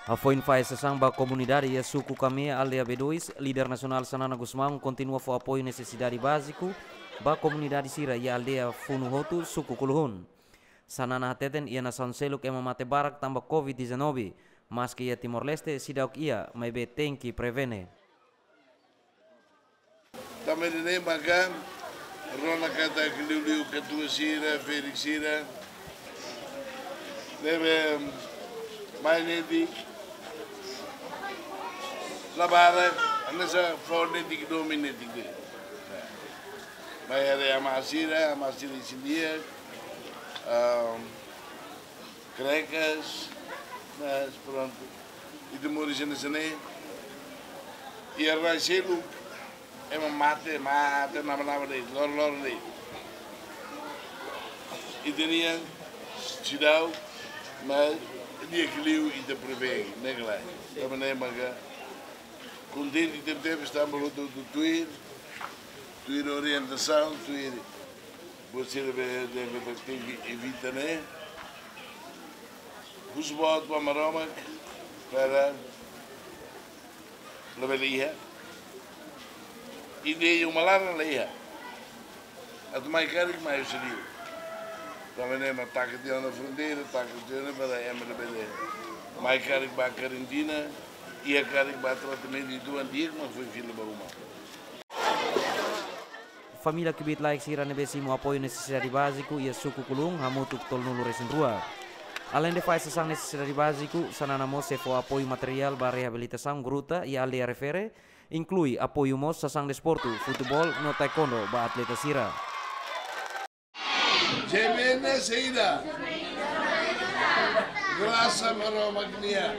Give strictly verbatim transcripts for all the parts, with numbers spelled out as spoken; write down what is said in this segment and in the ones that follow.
Hafoin fahe sasán ba komunidade iha suku Kamea, aldeia B dois, líder nasionál Xanana Gusmão kontinua fó apoiu nesesidade báziku ba komunidade sira iha aldeia Funu Hotu, suku Kuluhun. Xanana hateten iha nasaun seluk ema mate barak tanba covid dezanove, maski iha Timor-Leste seidauk iha, maibé tenke prevene. Tanba ne'e maka rona katak liuliu katuas sira, ferik sira ne'ebé mai netik, la barak, hanesan fó netik, domin netik de'it. Mai haree amá sira, amá sira isin-di'ak, ehm, krekas, mas prontu. Ita moris iha ne'e, iha rai seluk ema mate, mate naba-naba de'it, loroloron de'it. Ita-nian seidauk, mas di'ak liu ita prevene, ne'e ka lae. Tanba ne'e maka kontente tebetebes tanba hotu-hotu tuir, tuir orientasaun, tuir buat sira be dehan katak tenke evita ne'e. Husu buat ba Maromak para labele iha. Ida-ne'e uma laran la iha. Atu mai karik mai husi liur. Tanba ne'e mak taka tiha ona fronteira, taka tiha ona para ema labele mai karik ba karantina, iha karik ba tratamentu, entaun di'ak mak foin fila ba uma. Família kbiit-laek sira ne'ebé simu apoiu nesesidade báziku iha suku Kuluhun hamutuk tolunulu-resin-rua. Aleinde fahe sasán nesesidade báziku, Xanana mós sei fó apoiu materiál ba reabilitasaun gruta iha aldeia refere, inklui apoiu mós sasán desportu, futeból no taekwondo ba atleta sira. Jemena saida? Grasa Maromak nian.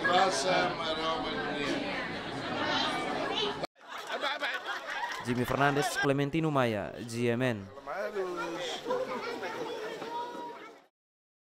Grasa Maromak nian. Jimmy Fernandes, Clementino Maia, G M N.